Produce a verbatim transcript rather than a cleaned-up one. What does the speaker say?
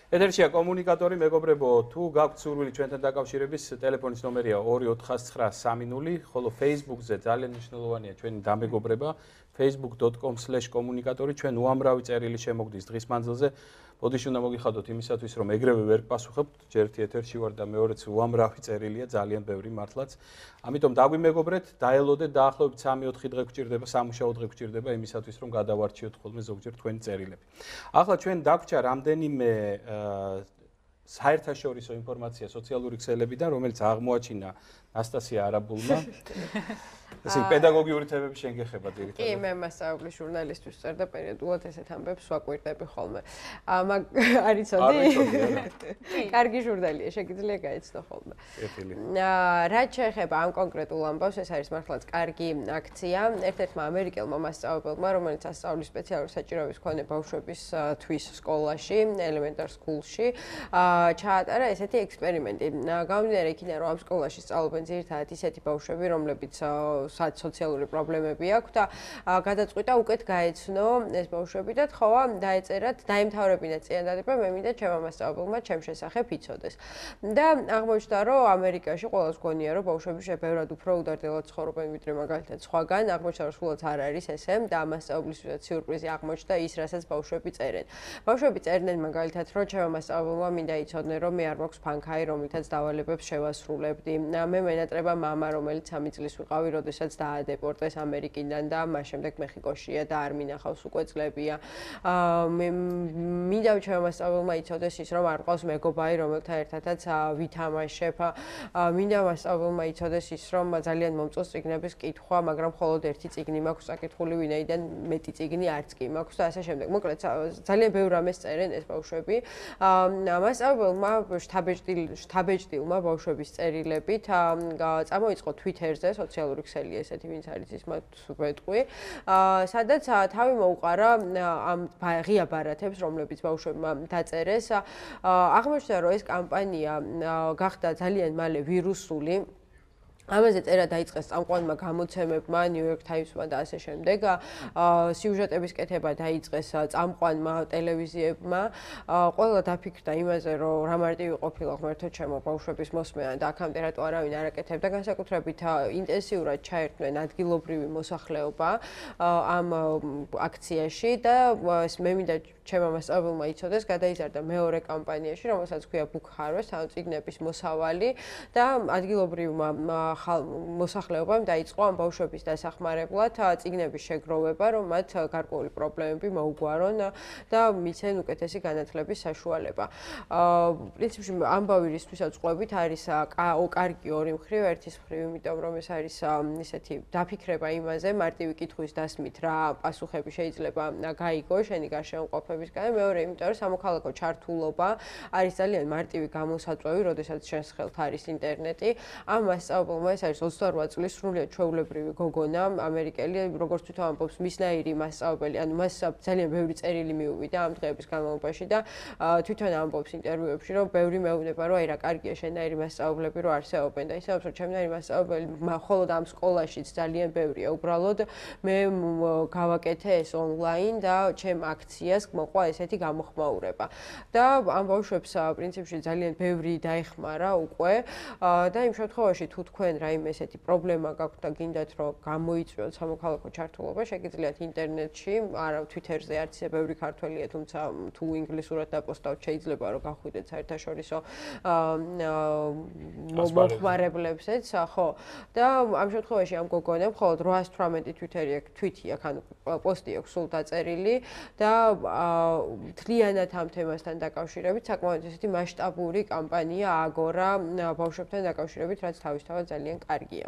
ეთერშია კომუნიკატორი, მეგობრებო, თუ გაქვთ სურვილი ჩვენთან დაკავშირების, ტელეფონის ნომერია ორი ოთხ ცხრა სამი ნული, ხოლო Facebook-ზე ძალიან მნიშვნელოვანია ჩვენი დამეგობრება, facebook dot com slash komunikatori, ჩვენ უამრავი წერილი შემოგდის დღის მანძილზე. ბოდიში უნდა მოგიხადოთ იმისათვის, რომ ეგრევე ვერ გპასუხებთ, ჯერ ერთი ეთერში ვარ და მეორეც უამრავი წერილია, ძალიან ბევრი მართლაც. ამიტომ დაგვიმეგობრეთ, დაელოდეთ, დაახლოებით სამი ოთხი დღე გვჭირდება, სამუშაო დღე გვჭირდება იმისათვის, რომ გადავარჩიოთ ხოლმე ზოგჯერ თქვენი წერილები. ახლა ჩვენ დაგვრჩა რამდენიმე საერთაშორისო ინფორმაცია სოციალური ქსელებიდან, რომელიც აღმოაჩინა ნასტასია არაბულმა. ესე პედაგოგიური თემები შენ გეხება ძირითადად. კი, მე მასწავლებლის ჟურნალისტვის ვწერ და პერიოდულად ესეთ ამბებს ვაკვირდები ხოლმე. მაგ არიცოდი? კარგი ჟურნალია, შეგიძლია გაეცნო ხოლმე. რაც შეეხება ამ კონკრეტულ ამბავს, ეს არის მართლაც კარგი აქცია. ერთ-ერთმა ამერიკელმა მასწავლებელმა, რომელიც ასწავლის სპეციალური საჭიროების მქონე ბავშვებისთვის სკოლაში, elementary school-ში, ჩაატარა ესეთი ექსპერიმენტი. გამომდინარე იქიდან, რომ ამ სკოლაში სწავლობენ ძირითადად ისეთი ბავშვები, რომლებიც სად სოციალური პრობლემები აქვს და გადაწყვიტა უკეთ გაეცნო ეს ბავშვები და თხოვა დაეწერათ, დაემთავრებინათ წინადადება, მე მინდა ჩემმა მასწავლებელმა ჩემ შესახებ იცოდეს. და აღმოჩნდა, რომ ამერიკაში ყველას გონია, რომ ბავშვები შეფერად უფრო უდარდელად ცხოვრობენ, ვიდრე მაგალითად სხვაგან, აღმოჩნდა, რომ სულაც არ არის ესე და მასწავლებლისთვისაც სიურპრიზი აღმოჩნდა ის, რასაც ბავშვები წერენ. ბავშვები წერდნენ მაგალითად, რომ ჩემმა მასწავლებელმა მინდა იცოდნენ, რომ მე არ მაქვს ფანქარი, რომლითაც დავალებებს შევასრულებდი. მე მენატრება მამა, რომელიც სამი წლის ვიყავი, როდესაც დაადეპორტეს ამერიკიდან და მას შემდეგ მეხიკოშია და არ მინახავს უკვე წლებია. მე მინდა ჩემმა მასწავლებელმა იცოდეს ის, რომ არ ყავს მეგობარი, რომელთან ერთადაც ვითამაშებ. მინდა მასწავლებელმა იცოდეს ის, რომ ძალიან მომწონს წიგნების კითხვა, მაგრამ მხოლოდ ერთი წიგნი მაქვს საკითხული, ვინაიდან მეტი წიგნი არც კი მაქვს და ასე შემდეგ. მოკლედ ძალიან ბევრ რამეს წერენ ეს ბავშვები. მასწავლებელმა შთაბეჭდილმა ბავშვების წერილებით წამოიწყო Twitter-ზე, სოციალური ქსელი ესეთი, ვინც არის ის მათ ვეტყვი, სადაც თავი მოუყარა ამ ღია ბარათებს, რომლებიც ბავშვებმა დაწერეს. აღმოჩნდა, რომ ეს კამპანია გახდა ძალიან მალე ვირუსული. ამაზე წერა დაიწყეს წამყვანმა გამოცემებმა, New York Times-მა და ასე შემდეგ. სიუჟეტების კეთება დაიწყეს წამყვანმა ტელევიზიებმა. ყველა დაფიქრდა იმაზე, რომ რა მარტივი ყოფილა ღმერთო ჩემო ბავშვების მოსმენა და აქამდე რატო არავინ არ აკეთებდა, განსაკუთრებით ინტენსიურად ჩაერთვნენ ადგილობრივი მოსახლეობა ამ აქციაში და მე მინდა ჩემმა მასწავლებელმა იცოდეს, გადაიზარდა მეორე კამპანიაში, რომელსაც ქვია Book Harvest, ანუ წიგნების მოსავალი და ადგილობრივმა მოსახლეობამ დაიწყო ამ ბავშვების დასახმარებლად წიგნების შეგროვება, რომ მათ გარკვეული პრობლემები მოუგვარონ და მიცენ უკეთესი განათლების საშუალება. პრინციპში ამბავი რისთვისაც ყვებით არის კარგი ორი მხრივ, ერთის მხრივ, იმიტომ რომ ეს არის ისეთი დაფიქრება იმაზე, მარტივი კითხვის დასმით რა პასუხები შეიძლება გაიგო შენი გარშემოყოფებისგან, მეორე იმიტომ რომ სამოქალაქო ჩართულობა არის ძალიან მარტივი გამოსაწვევი, როდესაც შენს ხელთ არის ინტერნეტი. ამ მასწავლებელმა ეს არის ოცდაორ წლის სრულიად ჩვეულებრივი გოგონა, ამერიკელი, როგორც თვითონ ამბობს, მისნაირი მასწავლებელი, ანუ მას ძალიან ბევრი წერილი მიუვიდა ამ დღეების განმავლობაში და თვითონ ამბობს ინტერვიუებში, რომ ბევრი მეუბნება, რომ აი რა კარგია შენაირი მასწავლებლები რო არსებობენ და ისე რომ ჩემნაირი მასწავლებელი მხოლოდ ამ სკოლაშიც ძალიან ბევრია. უბრალოდ მე გავაკეთე ეს ონლაინ და ჩემ აქციას მოყვა ესეთი გამოხმაურება. და ამ ბავშვებს პრინციპში ძალიან ბევრი დაეხმარა უკვე და იმ შემთხვევაში თუ თქვენ რაიმე ესეთი პრობლემა გაქვთ და გინდათ რომ გამოიწვიოთ სამოქალაქო ჩართულობა, შეგიძლიათ ინტერნეტში, არა Twitter-ზე არც ისე ბევრი ქართველია, თუმცა თუ ინგლისურად დაპოსტავთ შეიძლება რომ გახვიდეთ საერთაშორისო მოხმარებლებსაც, ხო. და ამ შემთხვევაში ამ გოგონამ მხოლოდ რვაას თვრამეტი Twitter-ი აქვს, tweet-ი აქვს, ანუ პოსტი აქვს სულ დაწერილი და მთლიანად ამ თემასთან დაკავშირებით საკმაოდ ესეთი მასშტაბური კამპანია ააგორა ბავშვებთან დაკავშირებით, რაც თავისთავად ძალიან კარგია.